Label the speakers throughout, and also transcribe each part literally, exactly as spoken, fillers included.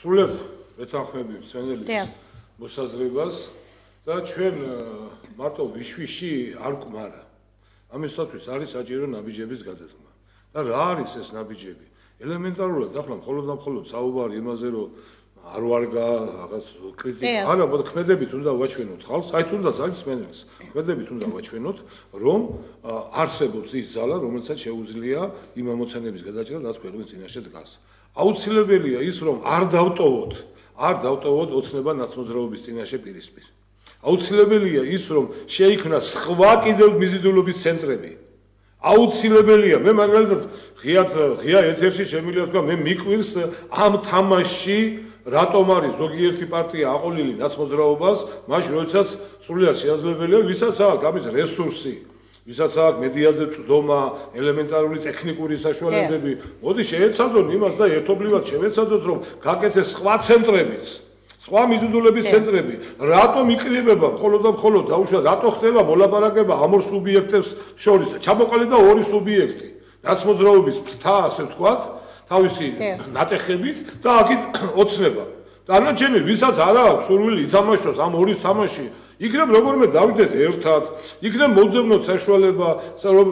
Speaker 1: სრულად ვეთანხმები მსმენელის მოსაზრებას და ჩვენ მარტო ვიშვიში არ გვმარა. ამისათვის არის საჭირო ნაბიჯების გადადგმა. და რა არის ეს ნაბიჯები? ელემენტარულად ახლა მხოლოდ და მხოლოდ საუბარი იმაზე, რომ არ ვარგა რაღაც კრიტიკა. არა, მოდი ქმედებით უნდა ვაჩვენოთ ხალხს, აი თუნდაც არის მსმენელს. ქმედებით უნდა ვაჩვენოთ, რომ არსებობს ის ძალა, რომელსაც შეუძლია იმ ამოცანების გადაჭრა, რაც ქვეყნის წინაშე დგას. აუცილებელია ის, რომ არ დავტოვოთ, არ დავტოვოთ ოცნება ნაცმოძრაობის წინაშე პირისპირ. აუცილებელია ის, რომ შეიქმნა სხვა კიდევ მიზიდულობის ცენტრები. აუცილებელია, მე მაგალითად ღიად ღია ეთერში შემიძლია თქვა, მე მიკვირს ამ თამაშში რატომ არის ზოგიერთი პარტია აყოლილი ნაცმოძრაობას, მაშინ როდესაც სრულიად შეაძლებელია, ვისაც აქვს ამის რესურსი, ვისაც აქვს მედიაზე წვდომა, ელემენტარული ტექნიკური საშუალებები, მოდი შეეცადონ იმას და ერთობლივად შევეცადოთ, რომ გაკეთეს სხვა ცენტრებიც, სხვა მიზიდულების ცენტრები, რატომ იკრიბება მხოლოდ და მხოლოდ დაუშვათ, რატო ხდება მოლაპარაკება ამ ორ სუბიექტებს შორის, ჩამოყალიბდა ორი სუბიექტი, ნაცმოძრაობის ფრთა, ასე ვთქვათ, თავისი ნატეხებით და აქეთ ოცნება. დანარჩენი, ვისაც არ აქვს სურვილი ითამაშოს ამ ორის თამაში, იქნებ როგორმე დავიდეთ ერთად, იქნებ მოძებნოთ საშუალება, რომ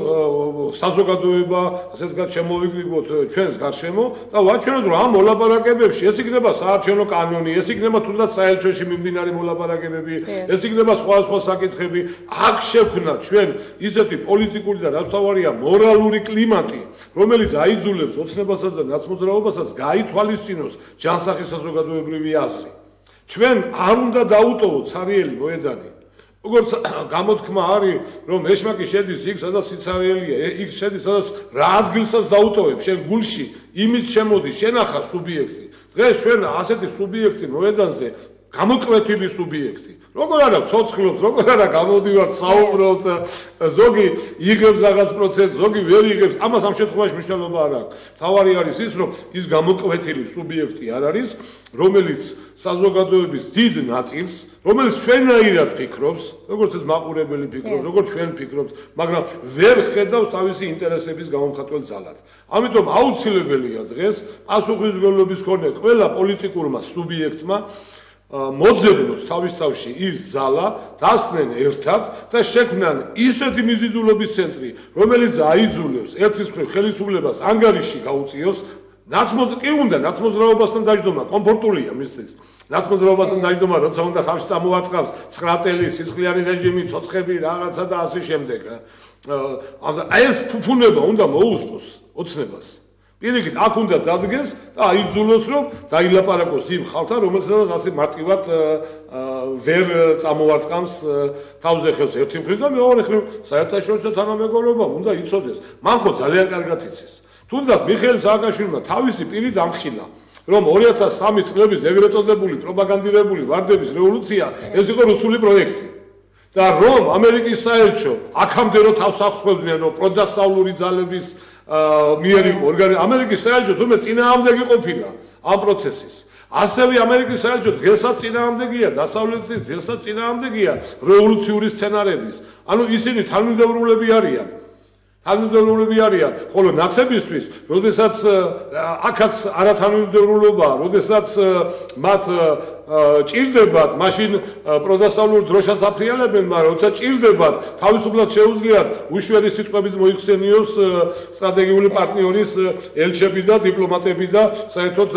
Speaker 1: საზოგადოება, ასე ვთქვათ, შემოვიკრიბოთ ჩვენს გარშემო და ვაჩვენოთ, რომ ამ მოლაპარაკებებში ეს იქნება საარჩევნო კანონი, ეს იქნება თუნდაც საელჩოში მიმდინარე მოლაპარაკებები, ეს იქნება სხვა სხვა საკითხები. აქ შექმნა ჩვენ ისეთი პოლიტიკური და რაც თავარია მორალური კლიმატი, რომელიც აიძულებს ოცნებასაც და ნაცმოძრაობასაც გაითვალისწინოს ჯანსაღი საზოგადოებრივი აზრი. ჩვენ არ უნდა დაუტოვოთ ცარიელი მოედანი. როგორც გამოთქმა არის, რომ ეშმაკი შედის იქ, სადაც სიცარიელია, იქ შედის, სადაც რა ადგილსაც დაუტოვებ, შენ გულში იმით შემოდის, შენახა სუბიექტი. დღეს ჩვენ ასეთი სუბიექტი მოედანზე, გამოკვეთილი სუბიექტი. როგორ არა ცოცხლობთ, როგორ არა გამოდივართ, საუბრობთ, ზოგი იღებს რაღაც პროცენტს, ზოგი ვერ იღებს, ამას ამ შემთხვევაში მნიშვნელობა არ აქვს. თავარი არის ის, რომ ის გამოკვეთილი სუბიექტი არ არის, რომელიც საზოგადოების დიდ ნაწილს, რომელიც ჩვენაირად ფიქრობს, როგორც ეს მაყურებელი ფიქრობს, როგორც ჩვენ ფიქრობთ, მაგრამ ვერ ხედავს თავისი ინტერესების გამომხატველ ძალად. ამიტომ აუცილებელია დღეს პასუხისმგებლობის მქონე ყველა პოლიტიკურმა სუბიექტმა მოძებნოს თავის თავში ის ზალა, დასწნენ ერთად და შექმნან ისეთი მიზიდულობის ცენტრი, რომელიც აიძულებს ერთის მხრივ ხელისუფლებას ანგარიში გაუწიოს, ნაცმოძ კი უნდა ნაცმოძრაობასთან დაждდომა, კომფორტულია მისთვის. ნაცმოძრაობასთან დაждდომა, როცა უნდა თავში წამოაწყავს ცხრა წელი სისხლიანი რეჟიმი, ცოცხები, რაღაცა და ასე შემდეგ. აი ეს ფუფუნება უნდა მოუსწოს ოცნებას. პირიქით, აქ უნდა დადგეს და აიძულოს, რომ დაილაპარაკოს იმ ხალხთან, რომელსაც ასე მარტივად ვერ წამოარტყამს თავზე ხელს ერთი მხრივ და მეორე მხრივ საერთაშორისო თანამეგობრობა უნდა იცოდეს. მან ხო ძალიან კარგად იცის. თუნდაც მიხეილ სააკაშვილმა თავისი პირი დამხილა, რომ ორი ათას სამი წლების ეგრეთ წოდებული პროპაგანდირებული ვარდების რევოლუცია ეს იყო რუსული პროექტი. და რომ ამერიკის საელჩო აქამდე რო თავს ახსოვდნენ, რომ პროდასავლური ძალების მიერ იყო ორგანიზ ამერიკის საელჩო თუმე წინააღმდეგი ყოფილა ამ პროცესის. ასევე ამერიკის საელჩო დღესაც წინააღმდეგია, დასავლეთის დღესაც წინააღმდეგია რევოლუციური სცენარების. ანუ ისინი თანმიმდევრულები არიან. თანმიმდევრულები არიან, ხოლო ნაცებისთვის, როდესაც აქაც არათანმიმდევრულობაა, როდესაც მათ ჭირდებათ, მაშინ პროდასავლურ დროშას აფრიალებენ, მაგრამ როცა ჭირდებათ, თავისუფლად შეუძლიათ უშველი სიტყვებით მოიხსენიოს სტრატეგიული პარტნიორის ელჩები და დიპლომატები და საერთოდ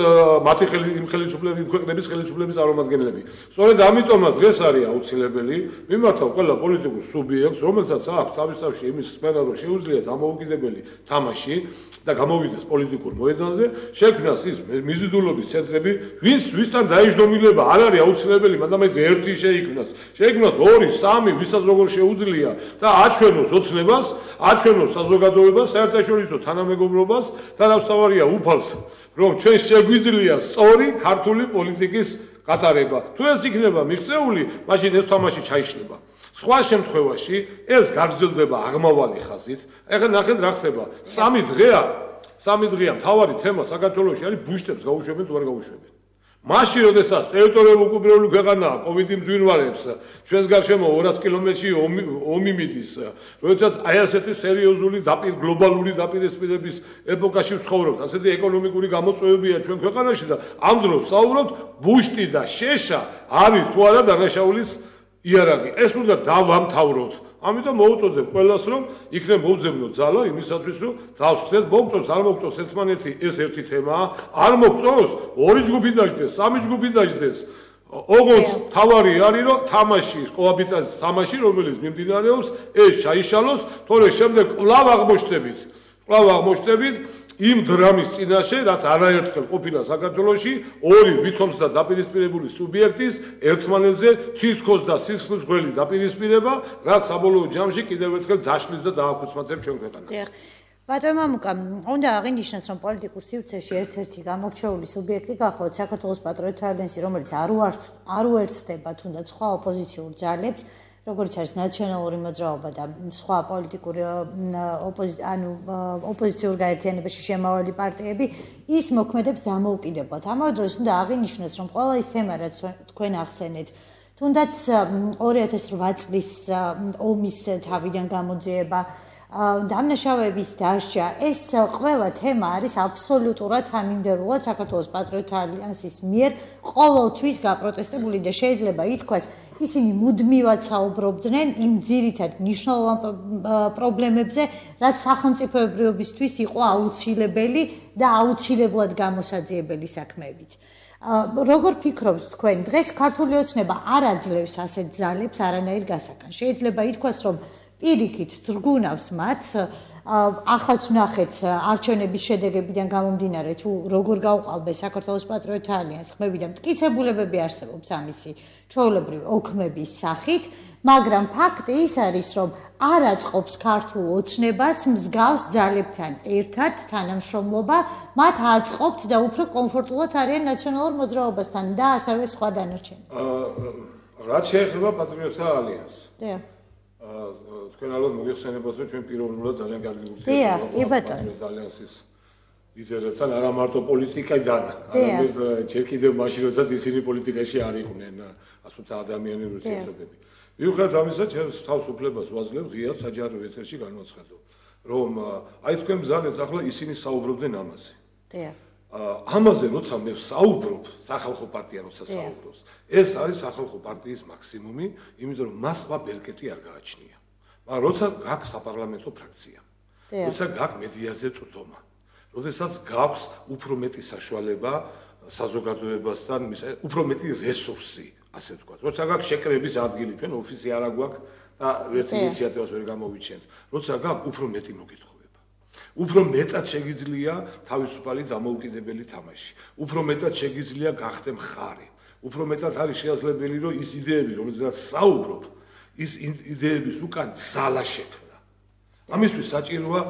Speaker 1: მათი იმ ხელისუფლების ქვეყნების ხელისუფლების წარმომადგენლები. სწორედ ამიტომაც დღეს არის აუცილებელი მიმართავ ყველა პოლიტიკურ სუბიექტს, რომელსაც აქვს თავის თავში იმის სფერო, რომ შეუძლია დამოუკიდებელი თამაში და გამოვიდეს პოლიტიკურ მოედანზე, შექმნას ის მიზიდულობის ცენტრები, ვინც ვისთან დაიჯდომილება არ არის აუცილებელი, მაგრამ ეს ერთი შეიქმნას. შეიქმნას ორი, სამი, ვისაც როგორ შეუძლია და აჩვენოს ოცნებას, აჩვენოს საზოგადოებას, საერთაშორისო თანამეგობრობას და რაც თავარია უფალს, რომ ჩვენ შეგვიძლია სწორი ქართული პოლიტიკის გატარება. თუ ეს იქნება მიღწეული, მაშინ ეს თამაში ჩაიშლება. სხვა შემთხვევაში ეს გაგრძელდება აღმავალი ხაზით. ეხლა ნახეთ რა ხდება. სამი დღეა, სამი დღეა მთავარი თემა საქართველოში არის ბუშტებს გაუშვებენ თუ არ გაუშვებენ. მაშინ როდესაც ტერიტორიული უკუპირებული ქვეყანაა, კოვიდი მძვირვარებს, ჩვენს გარშემო ორას კილომეტრში ომი მიდის, როდესაც აი ასეთი სერიოზული დაპირ გლობალური დაპირისპირების ეპოქაში ვცხოვრობთ, ასეთი ეკონომიკური გამოწვევებია ჩვენ ქვეყანაში და ამ დროს საუბრობთ ბუშტი და შეშა არის თუ არა დანაშაულის იარაღი. ეს უნდა დავამთავროთ. ამიტომ მოუწოდებ ყველას რომ იქნებ მოვძებნოთ ძალა იმისათვის რომ დავსხდეთ მოგწონს არ მოგწონს ერთმანეთი ეს ერთი თემაა არ მოგწონს ორი ჯგუფი დაждდეს სამი ჯგუფი დაждდეს ოღონდ თავარი არის რომ თამაში კოაბიტაციის თამაში რომელიც მიმდინარეობს ეს ჩაიშალოს თორე შემდეგ კვლავ აღმოჩნდებით კვლავ აღმოჩნდებით იმ დრამის წინაშე რაც არაერთხელ ყოფილა საქართველოში ორი ვითომს და დაპირისპირებული სუბიექტის ერთმანეთზე თითქოს და სისხლის გველი დაპირისპირება რაც საბოლოო ჯამში კიდევ ერთხელ დაშლის და დააქუცმაცებს ჩვენ ქვეყანას.
Speaker 2: ბატონო მამუკა, უნდა აღინიშნოს რომ პოლიტიკურ სივრცეში ერთ-ერთი გამორჩეული სუბიექტი გახლავთ საქართველოს პატრიოტთა ალიანსი, რომელიც არ არ უერთდება თუნდაც სხვა ოპოზიციურ ძალებს როგორც არის ნაციონალური მოძრაობა და სხვა პოლიტიკური ანუ ოპოზიციურ გაერთიანებაში შემავალი პარტიები ის მოქმედებს დამოუკიდებლად. ამავე დროს უნდა აღინიშნოს რომ ყველა ის თემა რაც თქვენ ახსენეთ თუნდაც ორი ათას რვა წლის ომის თავიდან გამოძიება დამნაშავეების დასჯა ეს ყველა თემა არის აბსოლუტურად თანმიმდევრულად საქართველოს პატრიოტთა ალიანსის მიერ ყოველთვის გაპროტესტებული და შეიძლება ითქვას ისინი მუდმივად საუბრობდნენ იმ ძირითად მნიშვნელოვან პრობლემებზე რაც სახელმწიფოებრიობისთვის იყო აუცილებელი და აუცილებლად გამოსაძიებელი საქმეებიც. როგორ ფიქრობთ თქვენ დღეს ქართული ოცნება არ აძლევს ასეთ ძალებს არანაირ გასაგანს შეიძლება ითქვას რომ პირიქით თრგუნავს მათ ახაც ვნახეთ არჩევნების შედეგებიდან გამომდინარე თუ როგორ გაუყალბეს საქართველოს პატრიოტთა ალიანსს ხმები და მტკიცებულებები არსებობს ამისი ჩვეულებრივი ოქმების სახით მაგრამ ფაქტი ის არის რომ არ აწყობს ქართულ ოცნებას მსგავს ძალებთან ერთად თანამშრომლობა მათ აწყობთ და უფრო კომფორტულად არიან ნაციონალურ მოძრაობასთან და ასევე სხვა დანარჩენები.
Speaker 1: რაც შეეხება პატრიოტთა ალიანსს.
Speaker 2: დიახ.
Speaker 1: თქვენ ალბათ მოგეხსენებათ რომ ჩვენ პიროვნულად ძალიან კარგი
Speaker 2: ურთიერთობები
Speaker 1: გვაქვს პატრიოტთა ალიანსის ლიდერებთან არა მარტო პოლიტიკიდან არამედ ჯერ კიდევ მაშინ როდესაც ისინი პოლიტიკაში არ იყვნენ ასე ვთქვათ ადამიანური ურთიერთობები. მიუხედავად ამისა ჩემს თავს უფლებას ვაძლევ ღიად საჯარო ეთერში განვაცხადო რომ აი თქვენ ბრძანეთ ახლა ისინი საუბრობდნენ ამაზე.
Speaker 2: დიახ.
Speaker 1: ამაზე როცა მე საუბრობ სახალხო პარტია როცა საუბრობს ეს არის სახალხო პარტიის მაქსიმუმი იმიტომ რომ მას სხვა ბერკეტი არ გააჩნია მაგრამ როცა გაქვს საპარლამენტო ფრაქცია როცა გაქვს მედიაზე წვდომა როდესაც გაქვს უფრო მეტი საშუალება საზოგადოებასთან უფრო მეტი რესურსი ასე ვთქვათ როცა გაქვს შეკრების ადგილი ჩვენ ოფისი არ აგვაქვს და ვერც ინიციატივას ვერ გამოვიჩენთ როცა გაქვს უფრო მეტი მოგითხო უფრო მეტად შეგიძლია თავისუფალი დამოუკიდებელი თამაში. უფრო მეტად შეგიძლია გახდე მხარი. უფრო მეტად არის შესაძლებელი რომ ის იდეები, რომელზეც საუბრობ, ის იდეების უკან ძალა შექმნა. ამისთვის საჭიროა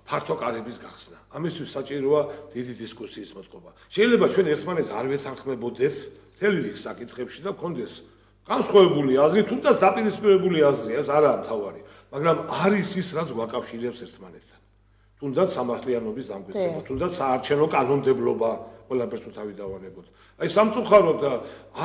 Speaker 1: ფართო კარების გახსნა. ამისთვის საჭიროა დიდი დისკუსიის მოწყობა. შეიძლება ჩვენ ერთმანეთს არ ვეთანხმებოდეთ მთელი რიგ საკითხებში და გქონდეს განსხვავებული აზრი, თუნდაც დაპირისპირებული აზრი, ეს არაა მთავარი, მაგრამ არის ის, რაც გვაკავშირებს ერთმანეთთან. თუნდაც სამართლიანობის დამკვიდრება, თუნდაც საარჩევნო კანონმდებლობა ყველაფერს თავი დავანებოთ. აი სამწუხაროდ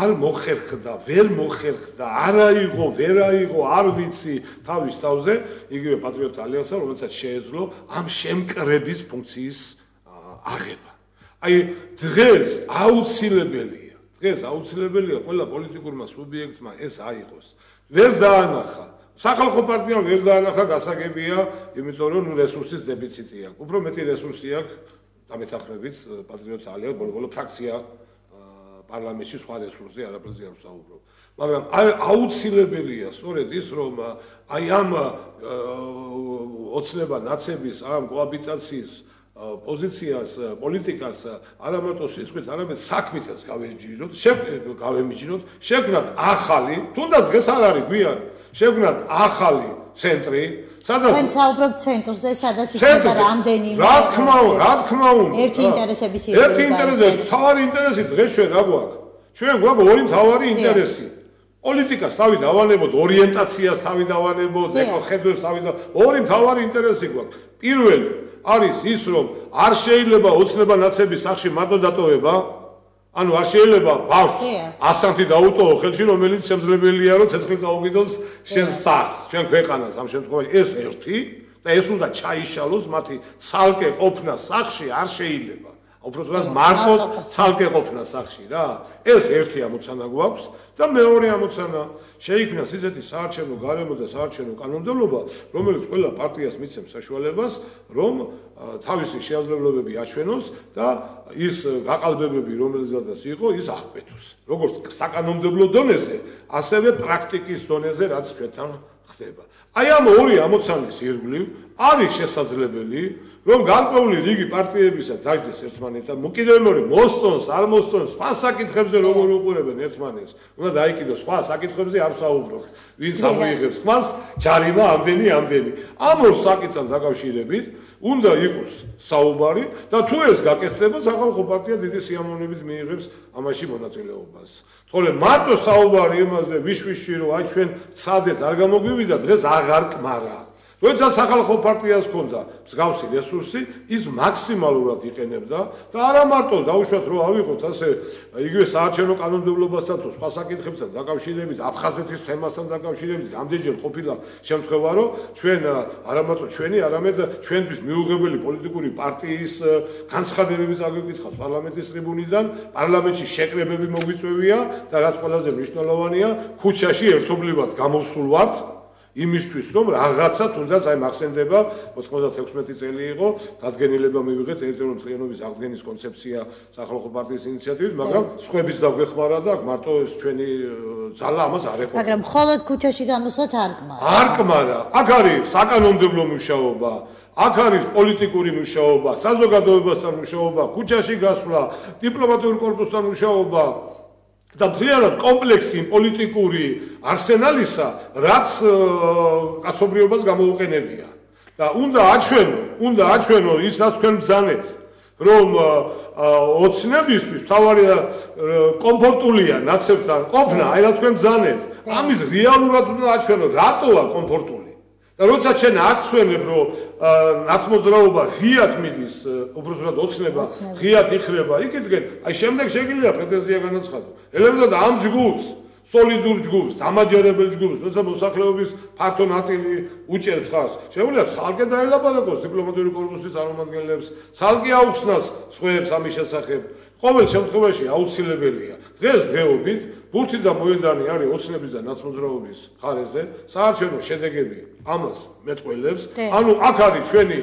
Speaker 1: არ მოხერხდა, ვერ მოხერხდა, არ აიღო, ვერ აიღო, არ ვიცი თავის თავზე, იგივე პატრიოტთა ალიანსა, რომელსაც შეეძლო ამ შემკრების ფუნქციის აღება. აი დღეს აუცილებელია, დღეს აუცილებელია ყველა პოლიტიკურმა სუბიექტმა ეს აიღოს. ვერ დაანახა სახალხო პარტიამ ვერ დაანახა გასაგებია, იმიტომ რომ რესურსის დეფიციტი აქვს. უფრო მეტი რესურსი აქვს დამეთანხმებით პატრიოტთა ალიანსს, ბოლო-ბოლო ფრაქცია პარლამენტში სხვა რესურსზე არაფერზე არ ვსაუბრობ. მაგრამ აუცილებელია სწორედ ის, რომ აი ამ ოცნება ნაცების, ამ კოაბიტაციის პოზიციას, პოლიტიკას არა მარტო სიტყვით, არამედ საქმითაც გავემიჯნოთ, გავემიჯნოთ, შეგვნათ ახალი, თუნდაც დღეს არ არის გვიან შეგვნათ ახალი ცენტრი, სადაც
Speaker 2: თქვენ საუბრობთ ცენტრზე, სადაც იქნება რამდენიმე
Speaker 1: რა თქმა უნდა, რა თქმა უნდა.
Speaker 2: ერთი ინტერესების ირგვლივ.
Speaker 1: ერთი ინტერესი, თავარი ინტერესი დღეს ჩვენ რა გვაქვს? ჩვენ გვაქვს ორი თავარი ინტერესი. პოლიტიკას თავი დავანებოთ, ორიენტაციას თავი დავანებოთ, ეკოხედვებს თავი და ორი თავარი ინტერესი გვაქვს. პირველი არის ის, რომ არ შეიძლება ოცნება ნაცების სახში მარტო დატოვება, ანუ არ შეიძლება ბავშვს ასანთი დაუტოვო ხელში, რომელიც შემძლებელია, რომ ცეცხლი წაუგიდოს შენს სახლს, ჩვენ ქვეყანას ამ შემთხვევაში ეს ერთი და ეს უნდა ჩაიშალოს მათი ცალკე ყოფნა სახლში არ შეიძლება. უბრალოდ მარტო ცალკე ყოფნა სახლში რა. ეს ერთი ამოცანა გვაქვს და მეორე ამოცანა შეიქმნას ისეთი საარჩევნო გარემო და საარჩევნო კანონმდებლობა, რომელიც ყველა პარტიას მიცემს საშუალებას, რომ თავისი შეაძლებლობები აჩვენოს და ის გაყალბებები, რომელზედაც იყო, ის აღკვეთოს. როგორც საკანონმდებლო დონეზე, ასევე პრაქტიკის დონეზე, რაც ჩვენთან ხდება. აი ამ ორი ამოცანის ირგვლივ არის შესაძლებელი რომ გარკვეული რიგი პარტიებისა დაждდეს ერთმანეთთან, კიდევ მეორე მოსწონს, არ მოსწონს, სხვა საკითხებზე როგორ უყურებენ ერთმანეთს, უნდა დაიკიდოს სხვა საკითხებზე არ საუბრობთ, ვინც ამოიღებს ხმას, ჯარიმა ამდენი, ამდენი. ამ ორ საკითხთან დაკავშირებით უნდა იყოს საუბარი და თუ ეს გაკეთდება, სახალხო პარტია დიდი სიამოვნებით მიიღებს ამაში მონაწილეობას. თორე მარტო საუბარი იმაზე ვიშვიში რომ აი ჩვენ ცადეთ არ გამოგვივიდა დღეს აღარ კმარა. როდესაც სახალხო პარტიას ჰქონდა მსგავსი რესურსი, ის მაქსიმალურად იყენებდა და არა მარტო დაუშვათ რომ ავიღოთ ასე იგივე საარჩევნო კანონმდებლობასთან თუ სხვა საკითხებთან დაკავშირებით, აფხაზეთის თემასთან დაკავშირებით, ამდენჯერ ყოფილა შემთხვევა, რომ ჩვენ არა მარტო ჩვენი, არამედ ჩვენთვის მიუღებელი პოლიტიკური პარტიის განცხადებების აგვიკითხავს პარლამენტის ტრიბუნიდან, პარლამენტში შეკრებები მოგვიწევია და რაც ყველაზე მნიშვნელოვანია, ქუჩაში ერთობლივად გამოვსულ ვართ იმისთვის რომ რაღაცა თუნდაც აი მახსენდება ოთხმოცდათექვსმეტი წელი იყო დადგენილება მივიღეთ ტერიტორიული მთლიანობის აღდგენის კონცეფცია სახალხო პარტიის ინიციატივით, მაგრამ სხვების დაგვეხმარა და მარტო ეს ჩვენი ძალა ამას არ ეყოლა.
Speaker 2: მაგრამ მხოლოდ ქუჩაში გამოსვლაც არ კმარა.
Speaker 1: არ კმარა. აქ არის საკანონმდებლო მუშაობა, აქ არის პოლიტიკური მუშაობა, საზოგადოებასთან მუშაობა, ქუჩაში გასვლა, დიპლომატიურ კორპუსთან მუშაობა და მთლიანად კომპლექსი პოლიტიკური არსენალისა, რაც კაცობრიობას გამოუყენებია. და უნდა აჩვენო, უნდა აჩვენო ის, რაც თქვენ ბრძანეთ, რომ ოცნებისთვის თავარი კომფორტულია ნაცებთან ყოფნა, აი რა თქვენ ბრძანეთ. ამის რეალურად უნდა აჩვენო, რატოა კომფორტული. და როცა ჩვენ აჩვენებ, რომ ნაცმოძრაობა ღიად მიდის, უბრალოდ ოცნება ღიად იხრება, იქითგენ, აი შემდეგ შეგიძლია პრეტენზია განაცხადო. ელემენტად ამ ჯგუფს, სოლიდურ ჯგუფს, დამაჯერებელ ჯგუფს, როცა მოსახლეობის ფართო ნაწილი უჭერს ხარს, შეუძლია ცალკე დაელაპარაკოს დიპლომატიური კორპუსის წარმომადგენლებს, ცალკე აუხსნას სხვებს ამის შესახებ. ყოველ შემთხვევაში აუცილებელია. დღეს დღეობით ბურთი და მოედანი არის ოცნების და ნაცმოძრაობის მხარეზე, საარჩევნო შედეგები ამას მეტყველებს. ანუ აქ არის ჩვენი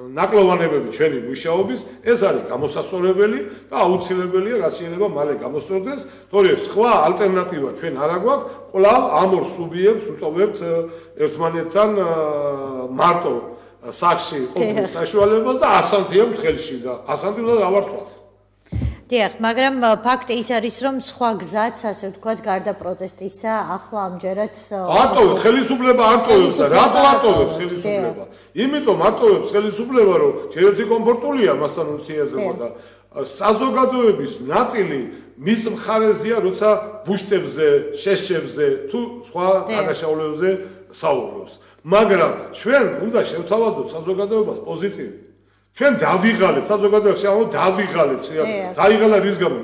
Speaker 1: ნაკლოვანებები ჩვენი მუშაობის, ეს არის გამოსასწორებელი და აუცილებელია, რაც შეიძლება მალე გამოსწორდეს, თორე სხვა ალტერნატივა ჩვენ არ აგვაქვს, კვლავ ამ ორ სუბიექტს უტოვებთ ერთმანეთთან მარტო სახლში ყოფნის საშუალებას და ასანთიებთ ხელში და ასანთი უნდა დავართვათ.
Speaker 2: დიახ, მაგრამ ფაქტი ის არის, რომ სხვა გზაც, ასე ვთქვათ, გარდა პროტესტისა, ახლა ამჯერად
Speaker 1: არტოვებს ხელისუფლება არტოვებს და რატო არტოვებს ხელისუფლება? იმიტომ არტოვებს ხელისუფლება, რომ ჯერერთი კომფორტულია მასთან ურთიერთობა და საზოგადოების ნაწილი მის მხარეზეა, როცა ბუშტებზე, შეშებზე თუ სხვა დანაშაულებებზე საუბრობს. მაგრამ ჩვენ უნდა შევთავაზოთ საზოგადოებას პოზიტივი. ჩვენ დავიღალეთ საზოგადოებაში, ანუ დავიღალეთ, დაიღალა რის გამო?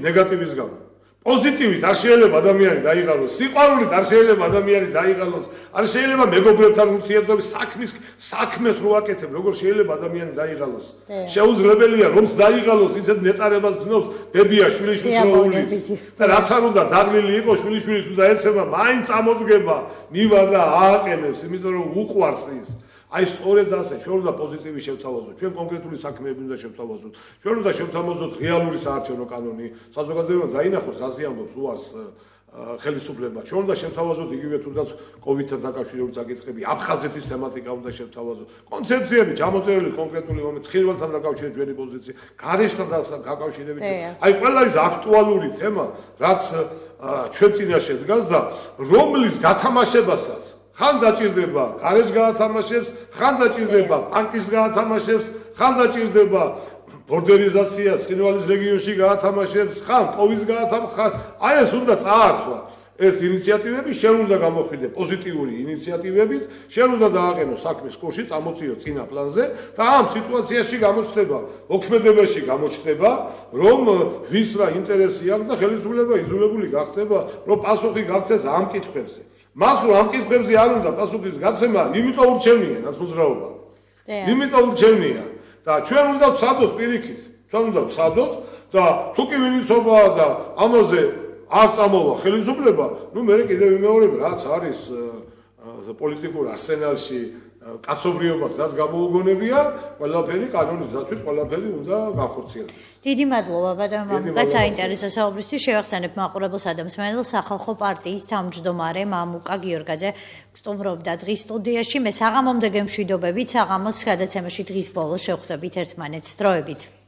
Speaker 1: ნეგატივის გამო. პოზიტივით არ შეიძლება ადამიანი დაიღალოს, სიყვარულით არ შეიძლება ადამიანი დაიღალოს, არ შეიძლება მეგობრებთან ურთიერთობის საქმის საქმეს რო აკეთებ, როგორ შეიძლება ადამიანი დაიღალოს? შეუძლებელია რომც დაიღალოს, ისეთ ნეტარებას გზნობს, ბებია შვილიშვილს რო უვლის. და რაც არ უნდა დაღლილი იყოს შვილიშვილი თუ დაეცემა, მაინც ამოდგება, მივა და ააყენებს, იმიტომ რომ უყვარს ის. აი სწორედ ასე, ჩვენ უნდა პოზიტივი შევთავაზოთ, ჩვენ კონკრეტული საქმეები უნდა შევთავაზოთ, ჩვენ უნდა შევთავაზოთ რეალური საარჩევნო კანონი, საზოგადოება დაინახოს, რაზე ამბობს უარს ხელისუფლება. ჩვენ უნდა შევთავაზოთ იგივე თუნდაც კოვიდთან დაკავშირებული საკითხები, აფხაზეთის თემატიკა უნდა შევთავაზოთ, კონცეფციები ჩამოწერილი კონკრეტული მომენტ, ცხინვალთან დაკავშირებით ჩვენი პოზიცია, გარეშთან დაკავშირებით. აი ყველა ის აქტუალური თემა, რაც ჩვენ წინაშე დგას და რომლის გათამაშებასაც ხან დაჭირდება გარეშ გაათამაშებს, ხან დაჭირდება ბანკის გაათამაშებს, ხან დაჭირდება ბორდერიზაცია ცხინვალის რეგიონში გაათამაშებს, ხან კოვიდს გაათამაშებს, აი ეს უნდა წაართვა. ეს ინიციატივები შენ უნდა გამოხიდე პოზიტიური ინიციატივებით, შენ უნდა დააყენო საქმის კურსი, წამოწიო წინა პლანზე და ამ სიტუაციაში გამოჩნდება, მოქმედებაში გამოჩნდება, რომ ვის რა ინტერესი აქვს და ხელისუფლება იძულებული გახდება, რომ პასუხი გაქცეს ამ კითხვებზე. მას რომ ამ კითხვებზე არ უნდა პასუხის გაცემა, იმიტომ ურჩევნია ნაცმოძრაობა. იმიტომ ურჩევნია და ჩვენ უნდა ვცადოთ პირიქით, ჩვენ უნდა ვცადოთ და თუ კი ვინიცობაა და ამაზე არ წამოვა ხელისუფლება, ნუ მე კიდევ ვიმეორებ, რაც არის პოლიტიკურ არსენალში კაცობრიობას, რაც გამოუგონებია, ყველაფერი კანონის დაცვით, ყველაფერი უნდა განხორციელდეს.
Speaker 2: დიდი მადლობა ბატონო მამუკა საინტერესო საუბრისთვის. შევახსენებ მაყურებელს და მსმენელს სახალხო პარტიის თავმჯდომარე მამუკა გიორგაძე სტუმრობდა დღის სტუდიაში. მე საღამომდე გემშვიდობებით, საღამოს გადაცემაში დღის ბოლოს შევხვდებით ერთმანეთს. დროებით.